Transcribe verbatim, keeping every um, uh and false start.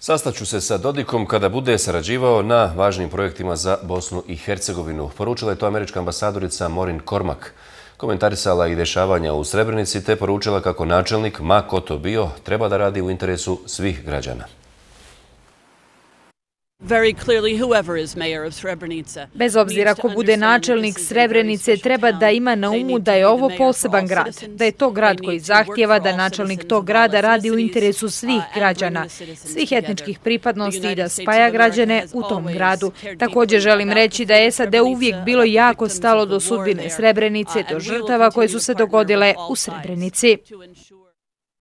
Sastaću se sa Dodikom kada bude sarađivao na važnim projektima za Bosnu i Hercegovinu. Poručila je to američka ambasadorica Maureen Cormack. Komentarisala i dešavanja u Srebrenici te poručila kako načelnik, ma ko to bio, treba da radi u interesu svih građana. Bez obzira ko bude načelnik Srebrenice, treba da ima na umu da je ovo poseban grad, da je to grad koji zahtjeva da načelnik tog grada radi u interesu svih građana, svih etničkih pripadnosti i da spaja građane u tom gradu. Također želim reći da je S A D uvijek bilo jako stalo do sudbine Srebrenice, do žrtava koje su se dogodile u Srebrenici.